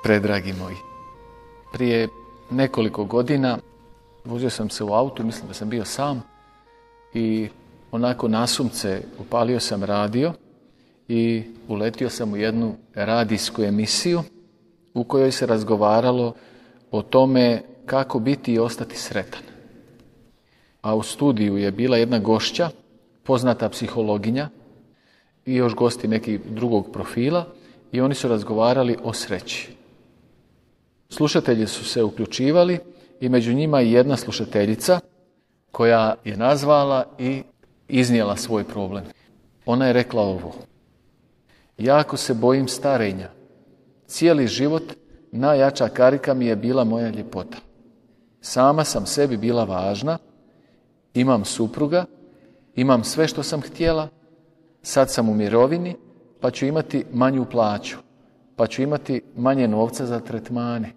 Predragi moji, prije nekoliko godina vozio sam se u autu, mislim da sam bio sam i onako nasumce upalio sam radio i uletio sam u jednu radijsku emisiju u kojoj se razgovaralo o tome kako biti i ostati sretan. A u studiju je bila jedna gošća, poznata psihologinja i još gosti nekih drugog profila i oni su razgovarali o sreći. Slušatelji su se uključivali i među njima i jedna slušateljica koja je nazvala i iznijela svoj problem. Ona je rekla ovo: jako se bojim starenja. Cijeli život najjača karika mi je bila moja ljepota. Sama sam sebi bila važna, imam supruga, imam sve što sam htjela, sad sam u mirovini, pa ću imati manju plaću, pa ću imati manje novca za tretmane.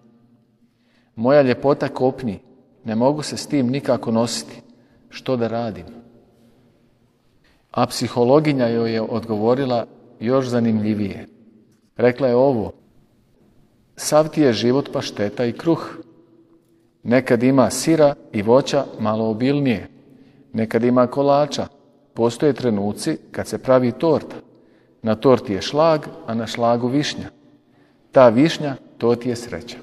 Moja ljepota kopni, ne mogu se s tim nikako nositi. Što da radim? A psihologinja joj je odgovorila još zanimljivije. Rekla je ovo: sav ti je život pašteta i kruh. Nekad ima sira i voća malo obilnije. Nekad ima kolača. Postoje trenuci kad se pravi torta. Na torti je šlag, a na šlagu višnja. Ta višnja, to ti je sreća.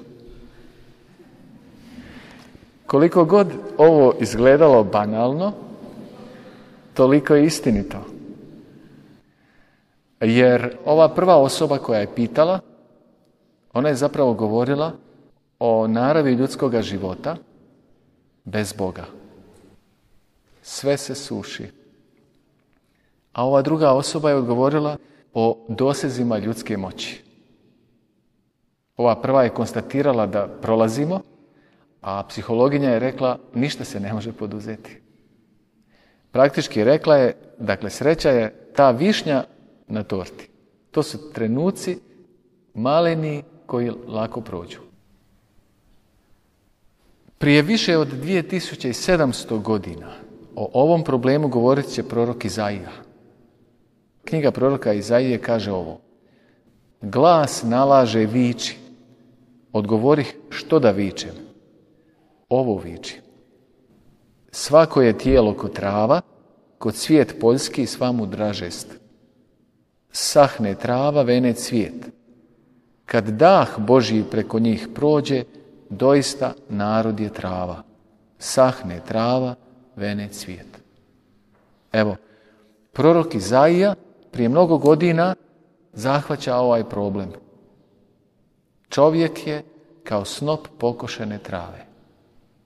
Koliko god ovo izgledalo banalno, toliko je istinito. Jer ova prva osoba koja je pitala, ona je zapravo govorila o naravi ljudskoga života bez Boga. Sve se suši. A ova druga osoba je odgovorila o dosezima ljudske moći. Ova prva je konstatirala da prolazimo, a psihologinja je rekla ništa se ne može poduzeti. Praktički rekla je, dakle, sreća je ta višnja na torti. To su trenuci maleni koji lako prođu. Prije više od 2700 godina o ovom problemu govorit će prorok Izaija. Knjiga proroka Izaije kaže ovo: glas nalaže viči. Odgovorih što da vičem? Ovo viči: svako je tijelo ko trava, ko cvijet poljski sva mu dražest. Sahne trava, vene cvijet. Kad dah Božji preko njih prođe, doista narod je trava. Sahne trava, vene cvijet. Evo, prorok Izaija prije mnogo godina zahvaća ovaj problem. Čovjek je kao snop pokošene trave.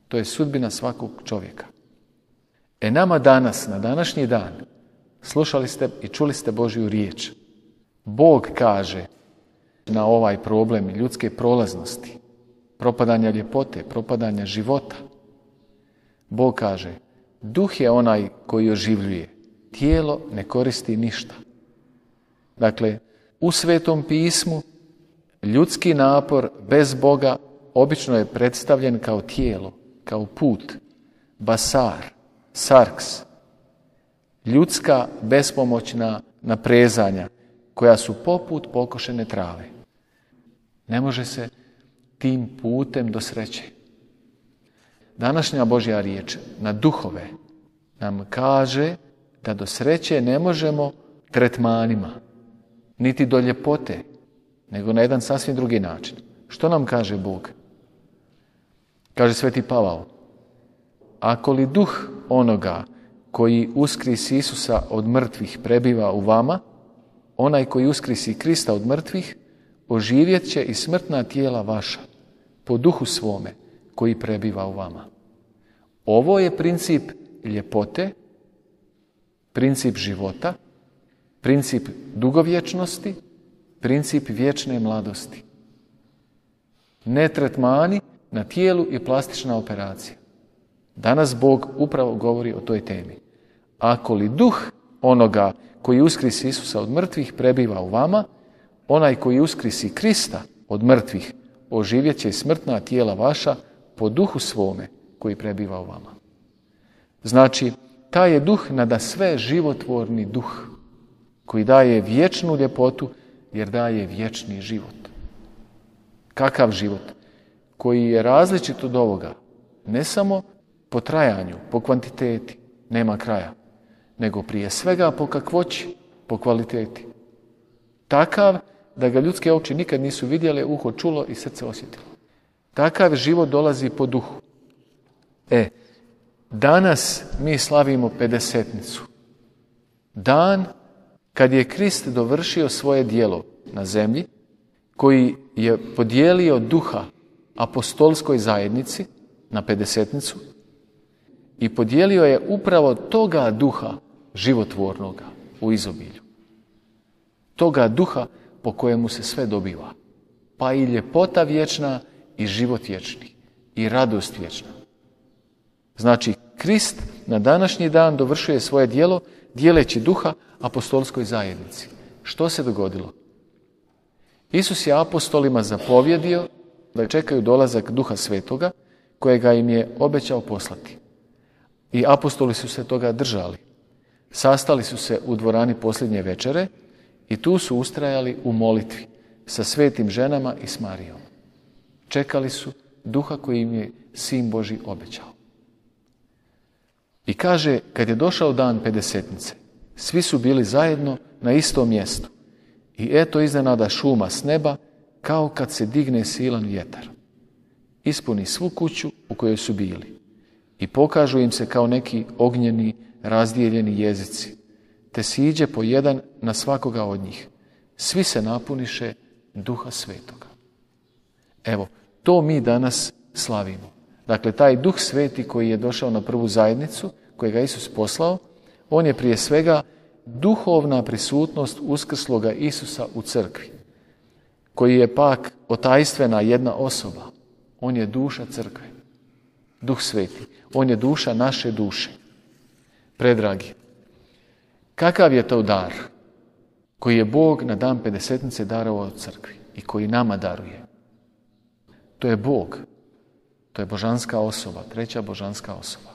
To je sudbina svakog čovjeka. Nama danas, na današnji dan, slušali ste i čuli ste Božju riječ. Bog kaže na ovaj problem ljudske prolaznosti, propadanja ljepote, propadanja života. Bog kaže: duh je onaj koji oživljuje, tijelo ne koristi ništa. Dakle, u Svetom pismu ljudski napor bez Boga obično je predstavljen kao tijelo, kao put, basar, sarks, ljudska bespomoćna naprezanja koja su poput pokošene trave. Ne može se tim putem do sreće. Današnja Božja riječ na duhove nam kaže da do sreće ne možemo tretmanima, niti do ljepote, nego na jedan sasvim drugi način. Što nam kaže Bog? Kaže Sveti Pavao: ako li duh onoga koji uskrisi Isusa od mrtvih prebiva u vama, onaj koji uskrisi Krista od mrtvih, oživjet će i smrtna tijela vaša, po duhu svome koji prebiva u vama. Ovo je princip ljepote, princip života, princip dugovječnosti, princip vječne mladosti. Ne tretmani na tijelu i plastična operacija. Danas Bog upravo govori o toj temi. Ako li duh onoga koji uskrisi Isusa od mrtvih prebiva u vama, onaj koji uskrisi Krista od mrtvih oživjet će i smrtna tijela vaša po duhu svome koji prebiva u vama. Znači, taj je duh nada sve životvorni duh koji daje vječnu ljepotu jer daje vječni život. Kakav život? Koji je različit od ovoga. Ne samo po trajanju, po kvantiteti, nema kraja, nego prije svega po kakvoći, po kvaliteti. Takav da ga ljudske oči nikad nisu vidjele, uho čulo i srce osjetilo. Takav život dolazi po duhu. Danas mi slavimo pedesetnicu. Dan kad je Krist dovršio svoje djelo na zemlji, koji je podijelio duha apostolskoj zajednici na pedesetnicu i podijelio je upravo toga duha životvornoga u izobilju. Toga duha po kojemu se sve dobiva. Pa i ljepota vječna i život vječni i radost vječna. Znači, Krist na današnji dan dovršuje svoje djelo dijeleći duha apostolskoj zajednici. Što se dogodilo? Isus je apostolima zapovjedio da čekaju dolazak Duha Svetoga kojega im je obećao poslati. I apostoli su se toga držali. Sastali su se u dvorani posljednje večere i tu su ustrajali u molitvi sa svetim ženama i s Marijom. Čekali su Duha koji im je Sin Božji obećao. I kaže, kad je došao dan pedesetnice, svi su bili zajedno na istom mjestu. I eto iznenada šuma s neba, kao kad se digne silan vjetar. Ispuni svu kuću u kojoj su bili. I pokažu im se kao neki ognjeni, razdijeljeni jezici, te siđe po jedan na svakoga od njih. Svi se napuniše Duha Svetoga. Evo, to mi danas slavimo. Dakle, taj Duh Sveti koji je došao na prvu zajednicu, kojega je Isus poslao, on je prije svega duhovna prisutnost uskrsloga Isusa u crkvi, koji je pak otajstvena jedna osoba. On je duša crkve. Duh Sveti. On je duša naše duše. Predragi, kakav je to dar koji je Bog na dan pedesetnice darovao crkvi i koji nama daruje? To je Bog. To je božanska osoba, treća božanska osoba.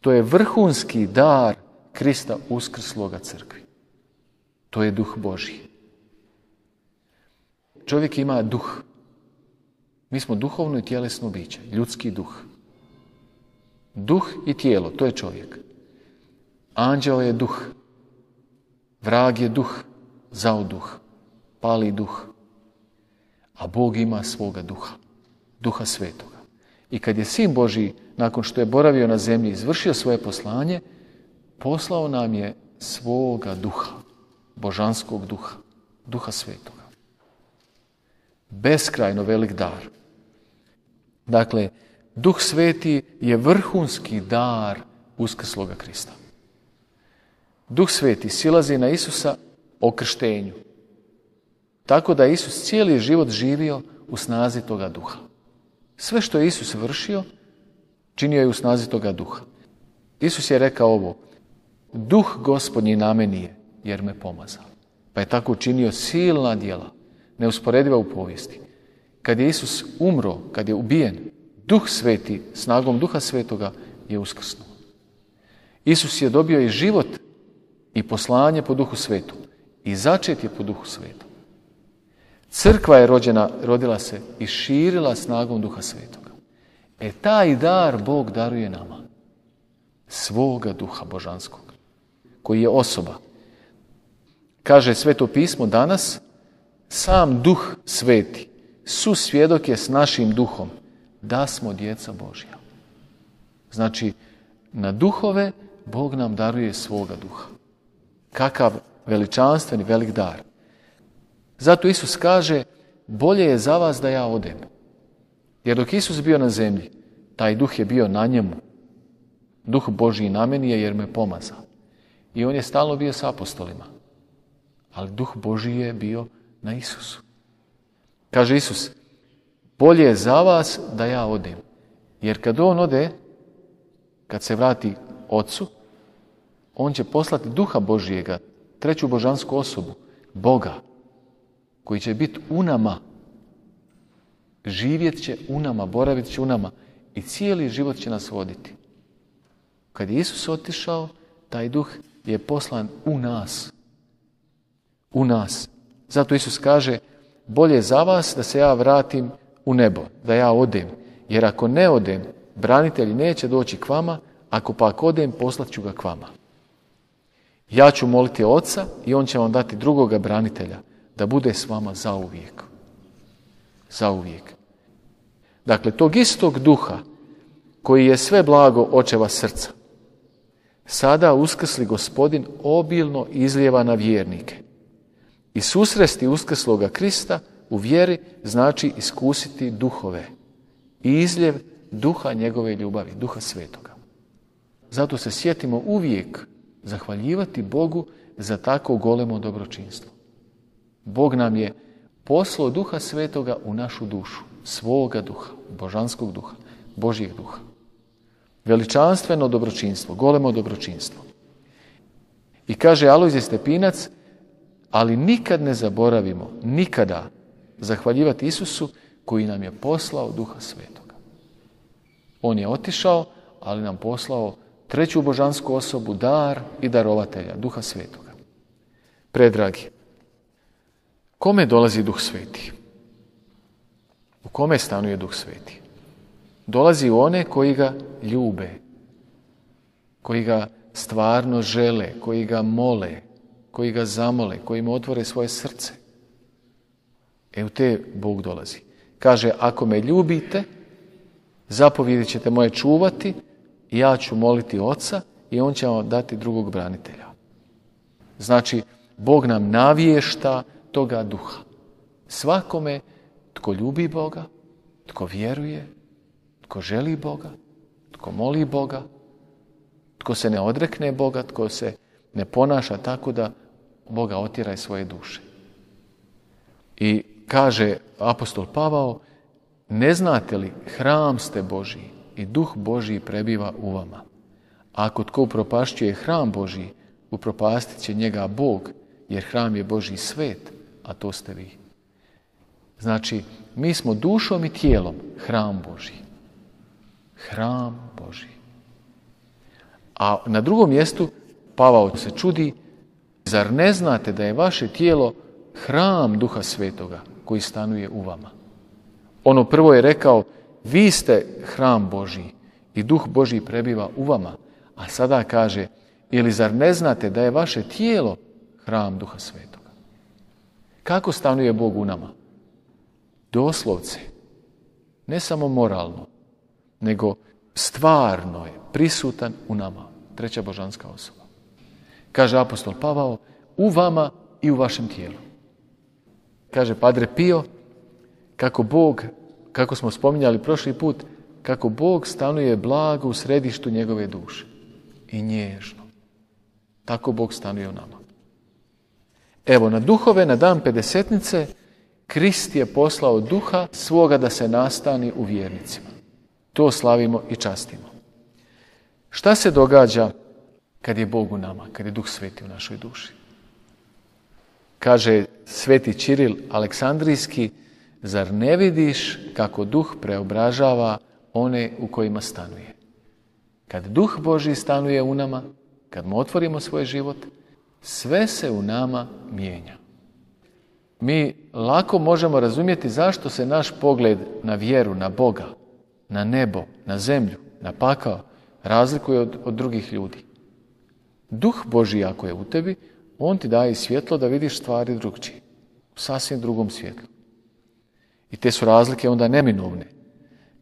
To je vrhunski dar Krista uskrsloga crkvi. To je Duh Božji. Čovjek ima duh. Mi smo duhovno i tjelesno biće, ljudski duh. Duh i tijelo, to je čovjek. Anđeo je duh. Vrag je duh, zao duh, pali duh. A Bog ima svoga duha, Duha Svetoga. I kad je Sin Božji, nakon što je boravio na zemlji, izvršio svoje poslanje, poslao nam je svoga duha, božanskog duha, Duha Svetoga. Beskrajno velik dar. Dakle, Duh Sveti je vrhunski dar uskrsloga Krista. Duh Sveti silazi na Isusa o krštenju. Tako da je Isus cijeli život živio u snazi toga duha. Sve što je Isus vršio, činio je u snazi toga duha. Isus je rekao ovo: Duh Gospodnji na meni je, jer me pomazao. Pa je tako činio silna djela, neusporediva u povijesti. Kad je Isus umro, kad je ubijen, Duh Sveti, snagom Duha Svetoga je uskrsnuo. Isus je dobio i život i poslanje po Duhu Svetom. I začet je po Duhu Svetom. Crkva je rodila se i širila snagom Duha Svetoga. Taj dar Bog daruje nama. Svoga Duha božanskog, koji je osoba. Kaže Sveto pismo danas, sam Duh Sveti susvjedok je s našim duhom da smo djeca Božja. Znači, na duhove Bog nam daruje svoga duha. Kakav veličanstveni velik dar. Zato Isus kaže, bolje je za vas da ja odem. Jer dok Isus bio na zemlji, taj duh je bio na njemu. Duh Božji na meni je jer me pomazao. I on je stalno bio s apostolima. Ali Duh Božji je bio na Isusu. Kaže Isus, bolje je za vas da ja odem. Jer kad on ode, kad se vrati Otcu, on će poslati Duha Božjega, treću božansku osobu, Boga, koji će biti u nama, živjet će u nama, boravit će u nama i cijeli život će nas voditi. Kad je Isus otišao, taj Duh je poslan u nas. U nas. Zato Isus kaže, bolje za vas da se ja vratim u nebo, da ja odem. Jer ako ne odem, branitelji neće doći k vama, ako pak odem, poslat ću ga k vama. Ja ću moliti Oca i on će vam dati drugoga branitelja, da bude s vama zauvijek. Zauvijek. Dakle, tog istog duha koji je sve blago očeva srca, sada uskrsli Gospodin obilno izlijeva na vjernike. I susresti uskrsloga Krista u vjeri znači iskusiti duhove i izljev duha njegove ljubavi, duha svetoga. Zato se sjetimo uvijek zahvaljivati Bogu za tako golemo dobročinstvo. Bog nam je poslao duha svetoga u našu dušu, svoga duha, božanskog duha, Božjeg duha. Veličanstveno dobročinstvo, golemo dobročinstvo. I kaže Alojzije Stepinac, ali nikad ne zaboravimo, nikada zahvaljivati Isusu koji nam je poslao duha svetoga. On je otišao, ali nam poslao treću božansku osobu, dar i darovatelja, duha svetoga. Predragi, kome dolazi duh sveti? U kome stanuje duh sveti? Dolazi u one koji ga ljube, koji ga stvarno žele, koji ga mole, koji ga zamole, koji mu otvore svoje srce. U te Bog dolazi. Kaže, ako me ljubite, zapovjedi ćete moje čuvati, i ja ću moliti Oca i on će vam dati drugog branitelja. Znači, Bog nam navješta toga duha. Svakome tko ljubi Boga, tko vjeruje, tko želi Boga, tko moli Boga, tko se ne odrekne Boga, tko se ne ponaša tako da Boga otjera iz svoje duše. I kaže apostol Pavao, ne znate li, hram ste Božji i duh Božji prebiva u vama. Ako tko upropašćuje hram Božji, upropastit će njega Bog, jer hram je Božji svet, a to ste vi. Znači, mi smo dušom i tijelom hram Božji. Hram Božji. A na drugom mjestu Pavao se čudi, zar ne znate da je vaše tijelo hram Duha Svetoga koji stanuje u vama? Ono prvo je rekao, vi ste hram Božji i Duh Božji prebiva u vama. A sada kaže, ili zar ne znate da je vaše tijelo hram Duha Svetoga? Kako stanuje Bog u nama? Doslovce, ne samo moralno, nego stvarno je prisutan u nama. Treća božanska osoba. Kaže apostol Pavao, u vama i u vašem tijelu. Kaže Padre Pio, kako Bog, kako smo spominjali prošli put, kako Bog stanuje blago u središtu njegove duše. I nježno. Tako Bog stanuje u nama. Evo, na duhove, na dan Pedesetnice, Krist je poslao duha svoga da se nastani u vjernicima. To slavimo i častimo. Šta se događa kad je Bog u nama, kad je Duh Sveti u našoj duši? Kaže Sveti Čiril Aleksandrijski, zar ne vidiš kako Duh preobražava one u kojima stanuje? Kad Duh Božji stanuje u nama, kad mu otvorimo svoj život, sve se u nama mijenja. Mi lako možemo razumjeti zašto se naš pogled na vjeru, na Boga, na nebo, na zemlju, na pakao razlikuje od drugih ljudi. Duh Božji ako je u tebi, on ti daje svjetlo da vidiš stvari drugčije, u sasvim drugom svjetlu. I te su razlike onda neminovne.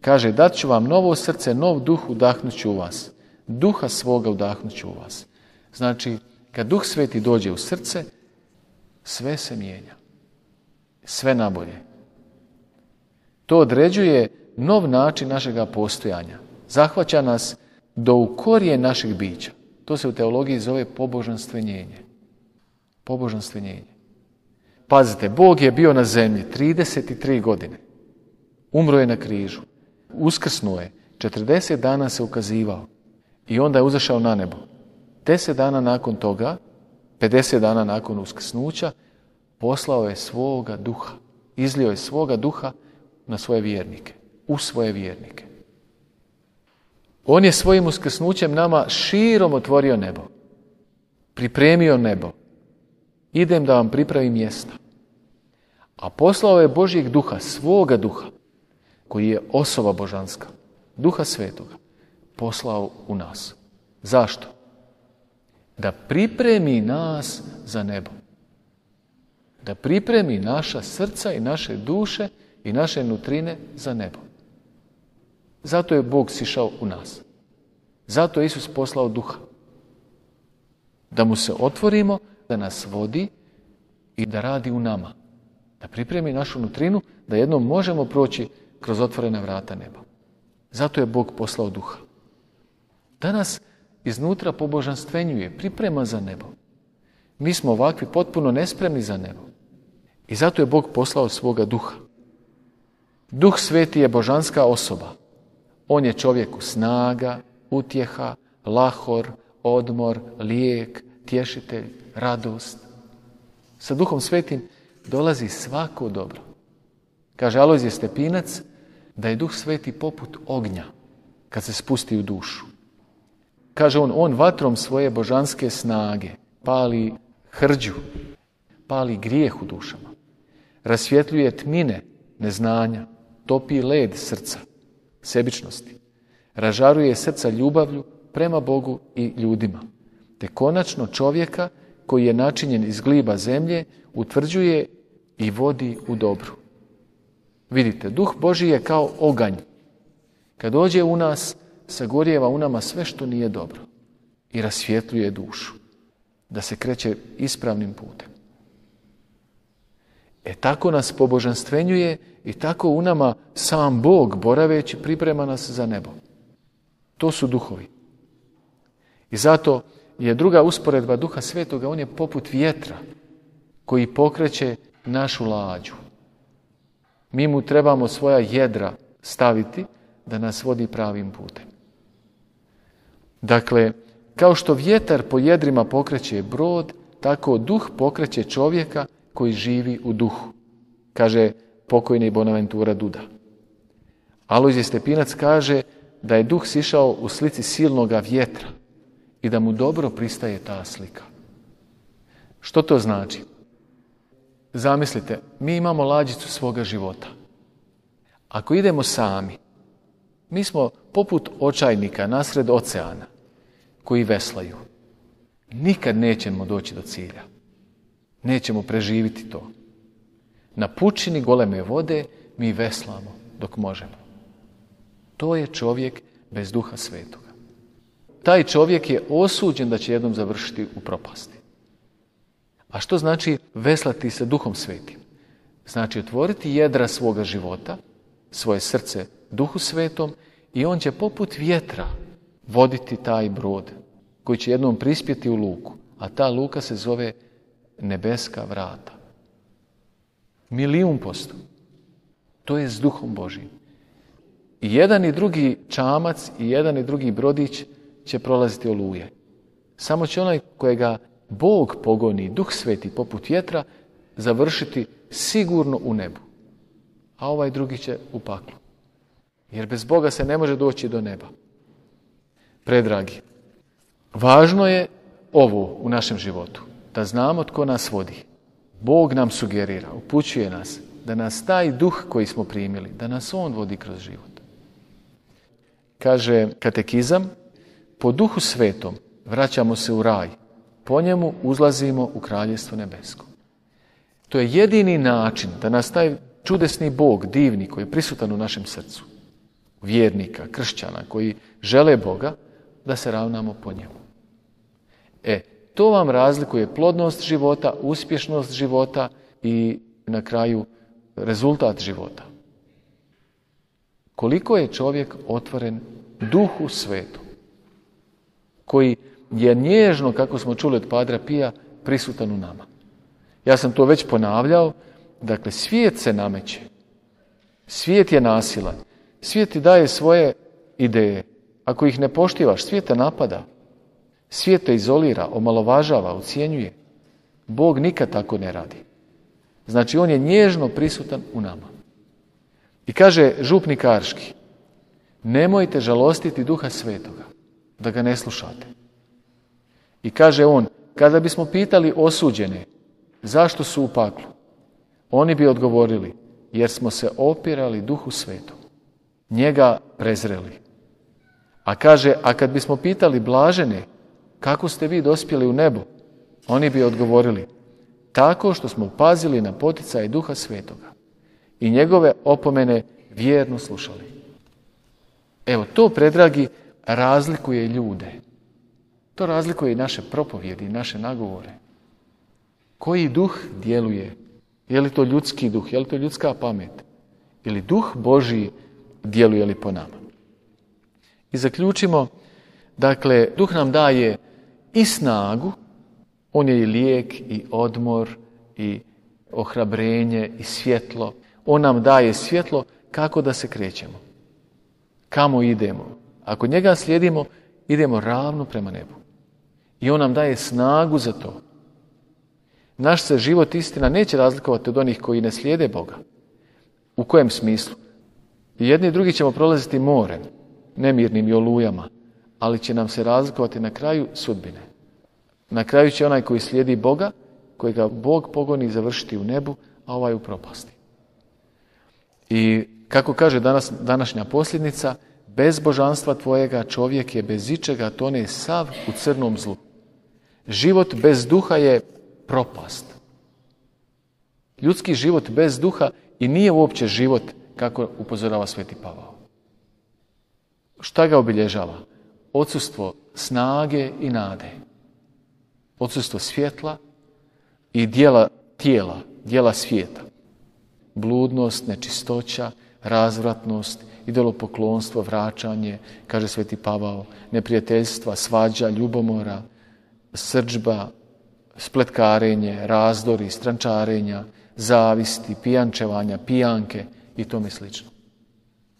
Kaže, dat ću vam novo srce, nov duh udahnut ću u vas. Duha svoga udahnut ću u vas. Znači, kad Duh Sveti dođe u srce, sve se mijenja. Sve nabolje. To određuje nov način našega postojanja. Zahvaća nas do u korijen našeg bića. To se u teologiji zove pobožanstvenjenje. Pobožanstvenjenje. Pazite, Bog je bio na zemlji 33 godine. Umro je na križu. Uskrsnuo je. 40 dana se ukazivao. I onda je uzašao na nebo. 10 dana nakon toga, 50 dana nakon uskrsnuća, poslao je svoga duha. Izlio je svoga duha na svoje vjernike. U svoje vjernike. On je svojim uskrsnućem nama širom otvorio nebo. Pripremio nebo. Idem da vam pripravim mjesta. A poslao je Božjeg duha, svoga duha, koji je osoba božanska, Duha Svetoga, poslao u nas. Zašto? Da pripremi nas za nebo. Da pripremi naša srca i naše duše i naše nutrine za nebo. Zato je Bog sišao u nas. Zato je Isus poslao duha. Da mu se otvorimo, da nas vodi i da radi u nama. Da pripremi našu nutrinu, da jednom možemo proći kroz otvorena vrata neba. Zato je Bog poslao duha. Danas iznutra pobožanstvenjuje, priprema za nebo. Mi smo ovakvi potpuno nespremni za nebo. I zato je Bog poslao svoga duha. Duh Sveti je božanska osoba. On je čovjeku snaga, utjeha, lahor, odmor, lijek, tješitelj, radost. Sa Duhom Svetim dolazi svako dobro. Kaže Alojzije Stepinac da je Duh Sveti poput ognja kad se spusti u dušu. Kaže on vatrom svoje božanske snage pali hrđu, pali grijeh u dušama, rasvjetljuje tmine neznanja, topi led srca, sebičnosti, ražaruje srca ljubavlju prema Bogu i ljudima, te konačno čovjeka koji je načinjen iz gliba zemlje utvrđuje i vodi u dobru. Vidite, Duh Božji je kao oganj. Kad dođe u nas, sagorijeva u nama sve što nije dobro i rasvjetljuje dušu, da se kreće ispravnim putem. Tako nas pobožanstvenjuje i tako u nama sam Bog, boraveći, priprema nas za nebo. To su duhovi. I zato je druga usporedba Duha Svetoga, on je poput vjetra koji pokreće našu lađu. Mi mu trebamo svoja jedra staviti da nas vodi pravim putem. Dakle, kao što vjetar po jedrima pokreće brod, tako duh pokreće čovjeka koji živi u duhu, kaže pokojni Bonaventura Duda. Alojzije Stepinac kaže da je duh sišao u slici silnoga vjetra i da mu dobro pristaje ta slika. Što to znači? Zamislite, mi imamo lađicu svoga života. Ako idemo sami, mi smo poput očajnika nasred oceana koji veslaju. Nikad nećemo doći do cilja. Nećemo preživiti to. Na pučini goleme vode mi veslamo dok možemo. To je čovjek bez Duha Svetoga. Taj čovjek je osuđen da će jednom završiti u propasti. A što znači veslati se Duhom Svetim? Znači otvoriti jedra svoga života, svoje srce Duhu Svetom i on će poput vjetra voditi taj brod koji će jednom prispjeti u luku, a ta luka se zove nebeska vrata. 1.000.000%. To je s Duhom Božjim. I jedan i drugi čamac i jedan i drugi brodić će prolaziti oluje. Samo će onaj kojega Bog pogoni, Duh Sveti poput vjetra, završiti sigurno u nebu. A ovaj drugi će u paklu. Jer bez Boga se ne može doći do neba. Predragi, važno je ovo u našem životu, da znamo tko nas vodi. Bog nam sugerira, upućuje nas, da nas taj duh koji smo primili, da nas on vodi kroz život. Kaže katekizam, po Duhu Svetom vraćamo se u raj, po njemu uzlazimo u Kraljevstvo nebesko. To je jedini način da nas taj čudesni Bog, divni, koji je prisutan u našem srcu, vjernika, kršćana, koji žele Boga, da se ravnamo po njemu. To vam razlikuje plodnost života, uspješnost života i na kraju rezultat života. Koliko je čovjek otvoren Duhu Svetom, koji je nježno, kako smo čuli od Padra Pija, prisutan u nama. Ja sam to već ponavljao, dakle svijet se nameće, svijet je nasilan, svijet ti daje svoje ideje. Ako ih ne poštivaš, svijet te napada, svijet te izolira, omalovažava, ucjenjuje. Bog nikad tako ne radi. Znači, on je nježno prisutan u nama. I kaže župnik Arški, nemojte žalostiti Duha Svetoga, da ga ne slušate. I kaže on, kada bismo pitali osuđene zašto su u paklu, Oni bi odgovorili, jer smo se opirali Duhu Svetom, njega prezreli. A kaže, a kad bismo pitali blažene, kako ste vi dospjeli u nebo? Oni bi odgovorili, tako što smo pazili na poticaje Duha Svetoga i njegove opomene vjerno slušali. Evo, to, predragi, razlikuje ljude. To razlikuje i naše propovjedi, i naše nagovore. Koji duh djeluje? Je li to ljudski duh? Je li to ljudska pamet? Ili duh Božji djeluje li po nama? I zaključimo, dakle, duh nam daje i snagu, on je i lijek, i odmor, i ohrabrenje, i svjetlo. On nam daje svjetlo kako da se krećemo. Kamo idemo? Ako njega slijedimo, idemo ravno prema nebu. I on nam daje snagu za to. Naš se život, istina, neće razlikovati od onih koji ne slijede Boga. U kojem smislu? Jedni i drugi ćemo prolaziti morem, nemirnim i olujama, ali će nam se razlikovati na kraju sudbine. Na kraju će onaj koji slijedi Boga, kojega Bog pogoni, završiti u nebu, a ovaj u propasti. I kako kaže današnja posljednica, bez božanstva tvojega čovjek je bez ičega tone sav u crnom zlu. Život bez duha je propast. Ljudski život bez duha i nije uopće život, kako upozorava Sveti Pavao. Šta ga obilježava? Odsustvo snage i nade. Odsustvo svjetla i dijela tijela, dijela svijeta. Bludnost, nečistoća, razvratnost, idolopoklonstvo, vraćanje, kaže Sveti Pavao, neprijateljstva, svađa, ljubomora, srdžba, spletkarenje, razdori, strančarenja, zavisti, pijančevanja, pijanke i tome slično.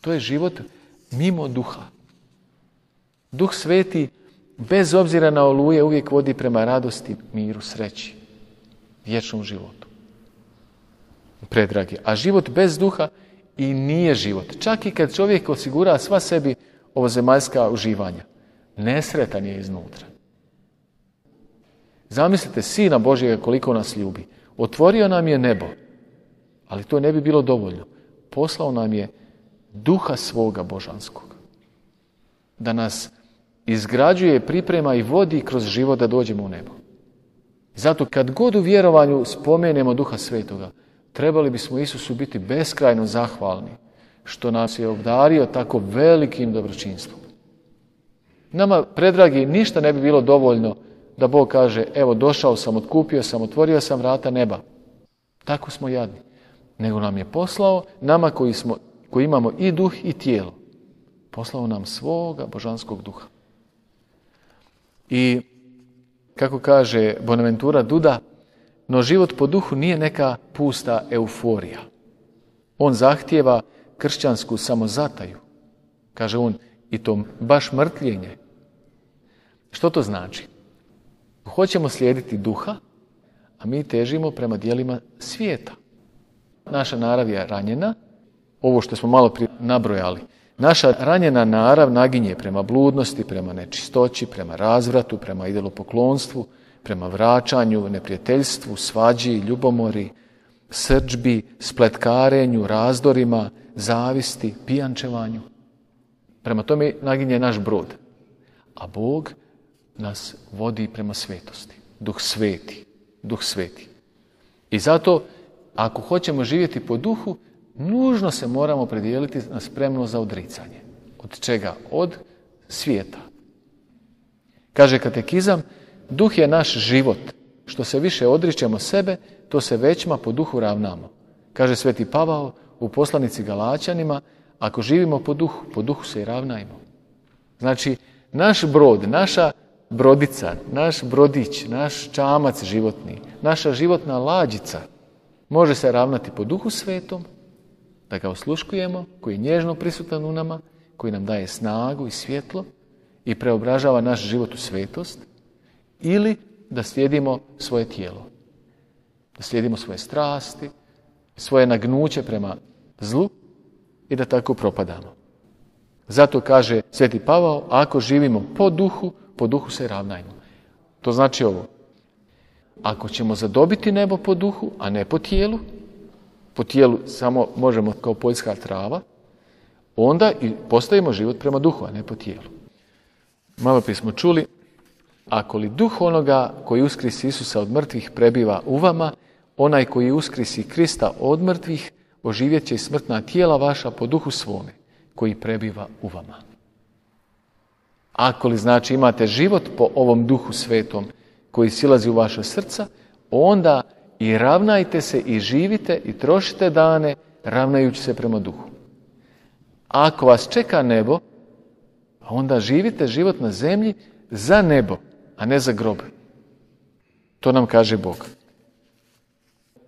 To je život mimo duha. Duh Sveti, bez obzira na oluje, uvijek vodi prema radosti, miru, sreći, vječnom životu. Predragi. A život bez duha i nije život. Čak i kad čovjek osigura sva sebi ovozemaljska uživanja, nesretan je iznutra. Zamislite Sina Božjega koliko nas ljubi. Otvorio nam je nebo, ali to ne bi bilo dovoljno. Poslao nam je Duha svoga božanskog. Da nas izgrađuje, priprema i vodi kroz život da dođemo u nebo. Zato kad god u vjerovanju spomenemo Duha Svetoga, trebali bismo Isusu biti beskrajno zahvalni što nas je obdario tako velikim dobročinstvom. Nama, predragi, ništa ne bi bilo dovoljno da Bog kaže, evo došao sam, otkupio sam, otvorio sam vrata neba. Tako smo jadni. Nego nam je poslao, nama koji imamo i duh i tijelo, poslao nam svoga božanskog duha. I kako kaže Bonaventura Duda, no život po duhu nije neka pusta euforija. On zahtijeva kršćansku samozataju. Kaže on, i to baš mrtljenje. Što to znači? Hoćemo slijediti duha, a mi težimo prema dijelima svijeta. Naša narav je ranjena, ovo što smo malo prije nabrojali. Naša ranjena narav naginje prema bludnosti, prema nečistoći, prema razvratu, prema idolopoklonstvu, prema vraćanju, neprijateljstvu, svađi, ljubomori, srdžbi, spletkarenju, razdorima, zavisti, pijančevanju. Prema tome naginje naš brod. A Bog nas vodi prema svetosti. Duh Sveti. Duh Sveti. I zato, ako hoćemo živjeti po duhu, nužno se moramo predijeliti na spremnost za odricanje. Od čega? Od svijeta. Kaže katekizam, duh je naš život. Što se više odričemo sebe, to se većma po duhu ravnamo. Kaže Sveti Pavao u poslanici Galačanima, ako živimo po duhu se i ravnajmo. Znači, naš brod, naša brodica, naš brodić, naš čamac životni, naša životna lađica može se ravnati po Duhu Svetom, da ga osluškujemo, koji je nježno prisutan u nama, koji nam daje snagu i svjetlo i preobražava naš život u svetost, ili da slijedimo svoje tijelo, da slijedimo svoje strasti, svoje nagnuće prema zlu i da tako propadamo. Zato kaže Sveti Pavao, ako živimo po duhu se ravnajmo. To znači ovo, ako ćemo zadobiti nebo po duhu, a ne po tijelu, po tijelu samo možemo kao poljska trava, onda i postavimo život prema duhu, a ne po tijelu. Malo prije smo čuli, ako li duh onoga koji uskrisi Isusa od mrtvih prebiva u vama, onaj koji uskrisi Krista od mrtvih, oživjet će i smrtna tijela vaša po duhu svome, koji prebiva u vama. Ako li znači imate život po ovom duhu svetom koji silazi u vaša srca, onda i ravnajte se i živite i trošite dane ravnajući se prema duhu. Ako vas čeka nebo, onda živite život na zemlji za nebo, a ne za grob. To nam kaže Bog.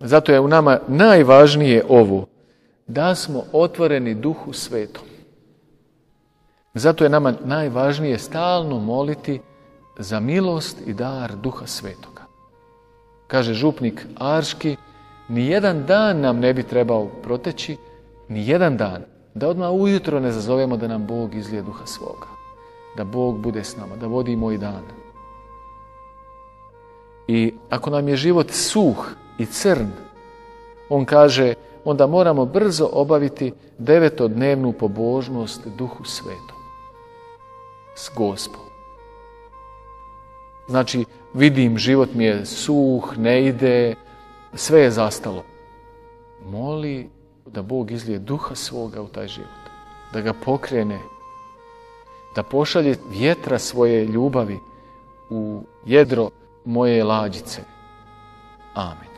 Zato je u nama najvažnije ovo, da smo otvoreni duhu svetom. Zato je nama najvažnije stalno moliti za milost i dar duha svetoga. Kaže župnik Arški, nijedan dan nam ne bi trebao proteći, nijedan dan, da odmah ujutro ne zazovemo da nam Bog izlije duha svoga. Da Bog bude s nama, da vodi moj dan. I ako nam je život suh i crn, on kaže, onda moramo brzo obaviti 9-dnevnu pobožnost duhu svetom. S Gospom. Znači, vidim, život mi je suh, ne ide, sve je zastalo. Moli da Bog izlije duha svoga u taj život. Da ga pokrene. Da pošalje vjetra svoje ljubavi u jedro moje lađice. Amen.